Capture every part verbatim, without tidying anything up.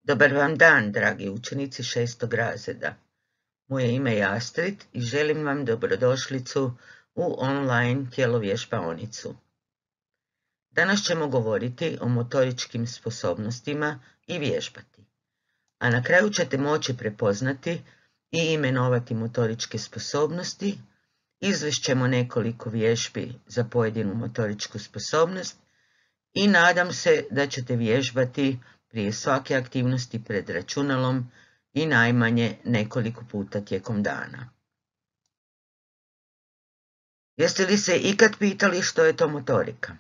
Dobar vam dan, dragi učenici šestog razreda. Moje ime je Astrid i želim vam dobrodošlicu u online tjelovježbaonicu. Danas ćemo govoriti o motoričkim sposobnostima i vježbati, a na kraju ćete moći prepoznati i imenovati motoričke sposobnosti, izvest ćemo nekoliko vježbi za pojedinu motoričku sposobnost i nadam se da ćete vježbati prije svake aktivnosti pred računalom i najmanje nekoliko puta tijekom dana. Jeste li se ikad pitali što je to motorika?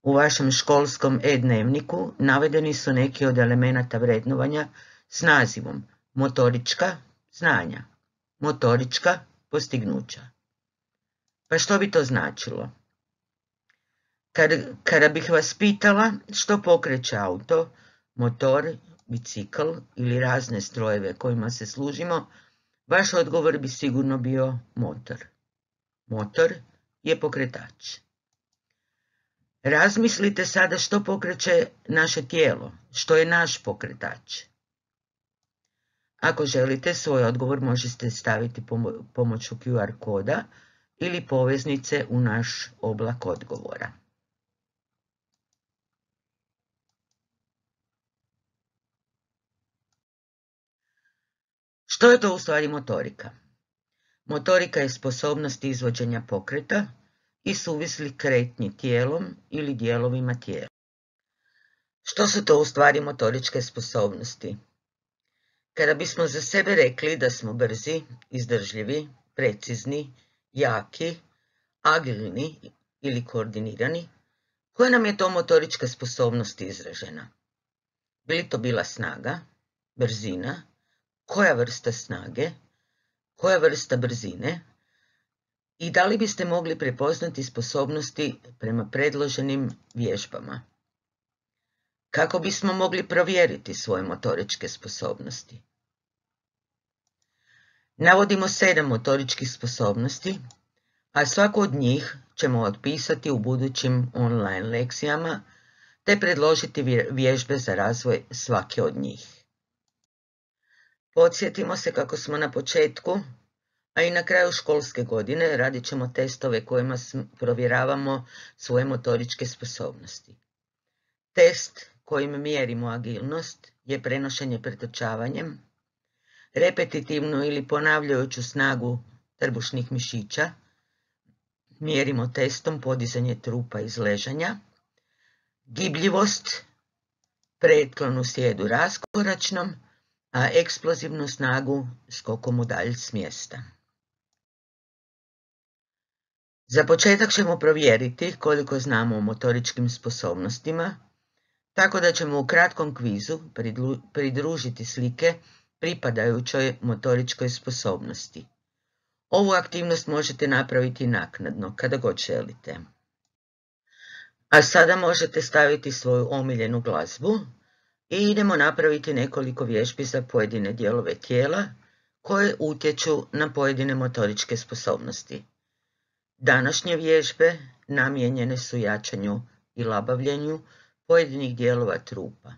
U vašem školskom e-dnevniku navedeni su neki od elemenata vrednovanja s nazivom motorička znanja, motorička postignuća. Pa što bi to značilo? Kada, kada bih vas pitala što pokreće auto, motor, bicikl ili razne strojeve kojima se služimo, vaš odgovor bi sigurno bio motor. Motor je pokretač. Razmislite sada što pokreće naše tijelo, što je naš pokretač. Ako želite, svoj odgovor možete staviti pomoću Q R koda ili poveznice u naš oblak odgovora. Što je to u stvari motorika? Motorika je sposobnost izvođenja pokreta i suvislih kretnji tijelom ili dijelovima tijela. Što su to u stvari motoričke sposobnosti? Kada bismo za sebe rekli da smo brzi, izdržljivi, precizni, jaki, agilni ili koordinirani, koja nam je to motorička sposobnost izražena? Bi li to bila snaga, brzina, koja vrsta snage, koja vrsta brzine i da li biste mogli prepoznati sposobnosti prema predloženim vježbama? Kako bismo mogli provjeriti svoje motoričke sposobnosti? Navodimo sedam motoričkih sposobnosti, a svaku od njih ćemo otpisati u budućim online lekcijama te predložiti vježbe za razvoj svake od njih. Podsjetimo se kako smo na početku, a i na kraju školske godine radit ćemo testove kojima provjeravamo svoje motoričke sposobnosti. Test kojim mjerimo agilnost je prenošenje pretrčavanjem, repetitivnu ili ponavljajuću snagu trbušnih mišića, mjerimo testom podizanje trupa iz ležanja, gibljivost, pretklon u sjedu raskoračnom, a eksplozivnu snagu skokom udalj s mjesta. Za početak ćemo provjeriti koliko znamo o motoričkim sposobnostima, tako da ćemo u kratkom kvizu pridružiti slike pripadajućoj motoričkoj sposobnosti. Ovu aktivnost možete napraviti naknadno, kada god želite. A sada možete staviti svoju omiljenu glazbu i idemo napraviti nekoliko vježbi za pojedine dijelove tijela koje utječu na pojedine motoričke sposobnosti. Današnje vježbe namijenjene su jačanju i labavljenju pojedinih dijelova trupa.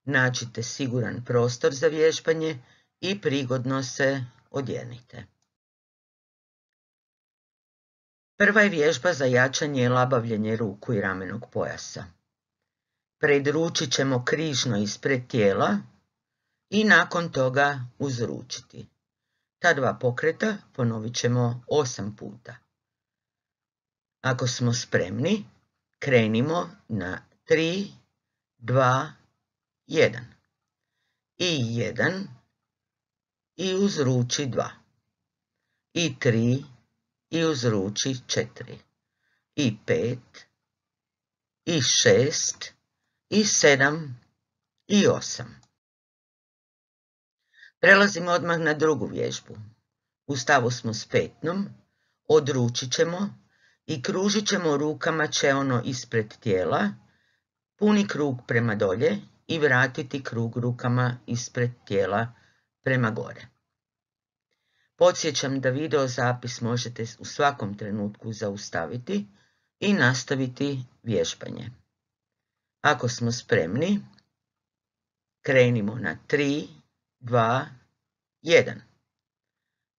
Nađite siguran prostor za vježbanje i prigodno se odjenite. Prva je vježba za jačanje i labavljenje ruku i ramenog pojasa. Predručit ćemo križno ispred tijela i nakon toga uzručiti. Ta dva pokreta ponovit ćemo osam puta. Ako smo spremni, krenimo na tri, dva, jedan. I jedan, i uzruči dva. I tri, i uzruči četiri. I pet, i šest, i sedam, i osam. Prelazimo odmah na drugu vježbu. U stavu smo s petnom, odručit ćemo i kružit ćemo rukama čeono ispred tijela, puni krug prema dolje i vratiti krug rukama ispred tijela prema gore. Podsjećam da video zapis možete u svakom trenutku zaustaviti i nastaviti vježbanje. Ako smo spremni, Krenimo na tri, dva, jedan.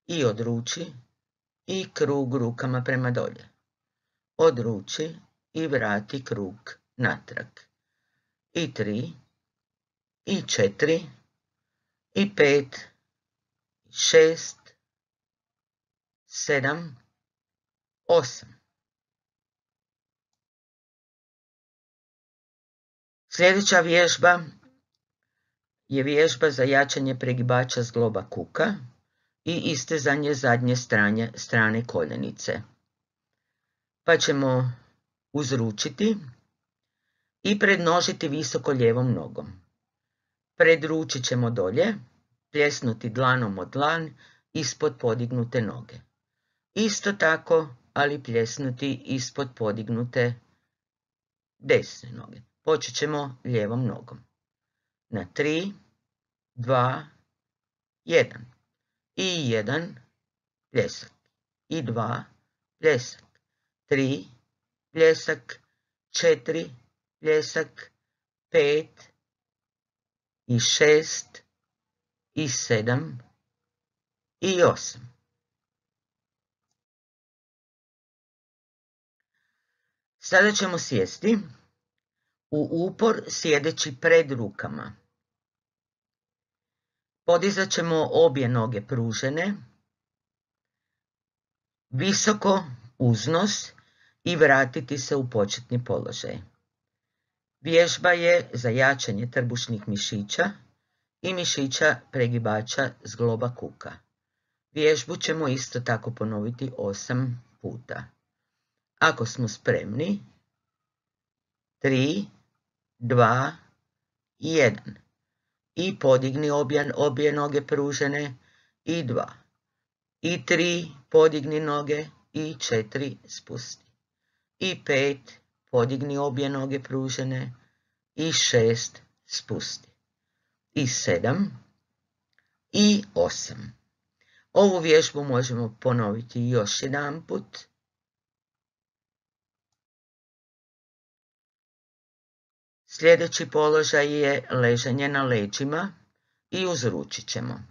I odruči i krug rukama prema dolje. Odruči i vrati krug natrag. I tri, i četiri, i pet, i šest, sedam, osam. Sljedeća vježba je vježba za jačanje pregibača zgloba kuka i istezanje zadnje strane, strane koljenice. Pa ćemo uzručiti i prednožiti visoko lijevom nogom. Predručit ćemo dolje, pljesnuti dlanom od dlan ispod podignute noge. Isto tako, ali pljesnuti ispod podignute desne noge. Počet ćemo lijevom nogom. Na tri, dva, jedan. I jedan, pljesak. I dva, pljesak. Tri, pljesak. Četiri, pljesak. Pet, i šest, i sedam, i osam. Sada ćemo sjesti u upor sjedeći pred rukama. Podizat ćemo obje noge pružene, visoko uz nos i vratiti se u početni položaj. Vježba je za jačanje trbušnih mišića i mišića pregibača zgloba kuka. Vježbu ćemo isto tako ponoviti osam puta. Ako smo spremni, tri, dva, jedan. I podigni obje, obje noge pružene, i dva. I tri, podigni noge, i četiri, spusti. I pet, podigni obje noge pružene, i šest, spusti. I sedam, i osam. Ovu vježbu možemo ponoviti još jedan put. Sljedeći položaj je ležanje na leđima i uzručit ćemo.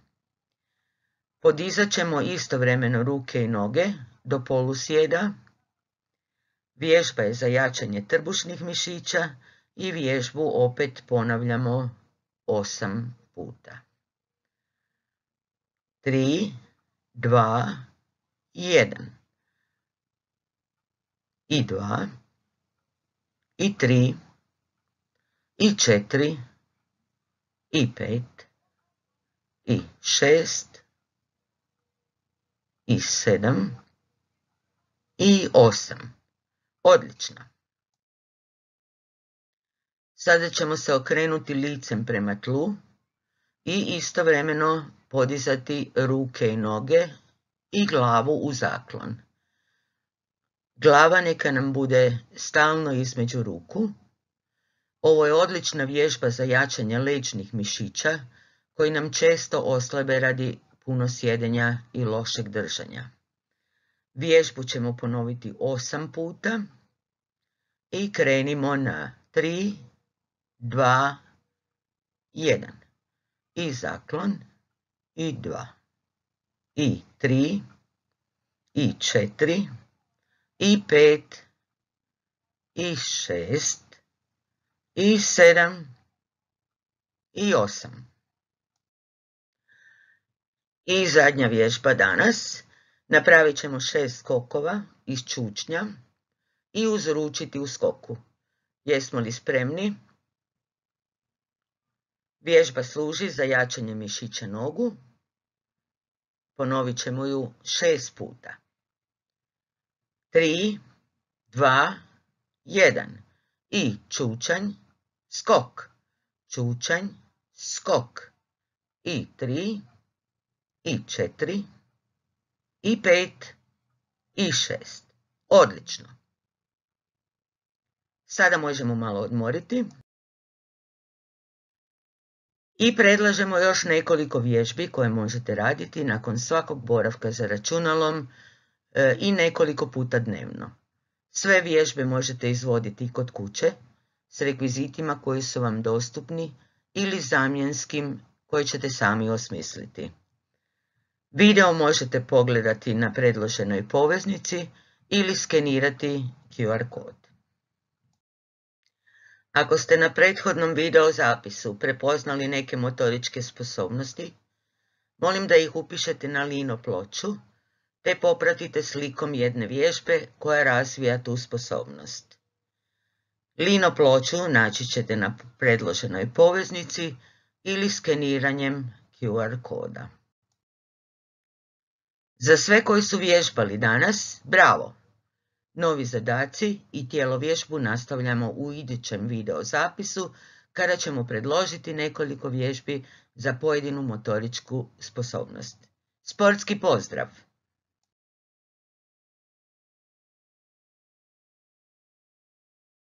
Podizat ćemo istovremeno ruke i noge do polusjeda. Vježba je za jačanje trbušnih mišića i vježbu opet ponavljamo osam puta. tri, dva, jedan. I dva, i tri, i četiri, i pet, i šest, i sedam, i osam. Odlično. Sada ćemo se okrenuti licem prema tlu i istovremeno podizati ruke i noge i glavu u zaklon. Glava neka nam bude stalno između ruku. Ovo je odlična vježba za jačanje leđnih mišića koji nam često oslabe radi puno sjedenja i lošeg držanja. Vježbu ćemo ponoviti osam puta i krenimo na tri, dva, jedan. I zaklon, i dva, i tri, i četiri, i pet, i šest, i sedam, i osam. I zadnja vježba danas. Napravit ćemo šest skokova iz čučnja i uzručiti u skoku. Jesmo li spremni? Vježba služi za jačanje mišića nogu. Ponovit ćemo ju šest puta. tri, dva, jedan. I čučanj, skok. Čučanj, skok. I tri, i četiri, i pet, i šest. Odlično. Sada možemo malo odmoriti. I predlažemo još nekoliko vježbi koje možete raditi nakon svakog boravka za računalom e, i nekoliko puta dnevno. Sve vježbe možete izvoditi kod kuće s rekvizitima koji su vam dostupni ili zamjenskim koje ćete sami osmisliti. Video možete pogledati na predloženoj poveznici ili skenirati Q R kod. Ako ste na prethodnom video zapisu prepoznali neke motoričke sposobnosti, molim da ih upišete na lino ploču te popratite slikom jedne vježbe koja razvija tu sposobnost. Lino ploču naći ćete na predloženoj poveznici ili skeniranjem Q R koda. Za sve koji su vježbali danas, bravo! Novi zadaci i tjelovježbu nastavljamo u idućem video zapisu kada ćemo predložiti nekoliko vježbi za pojedinu motoričku sposobnost. Sportski pozdrav!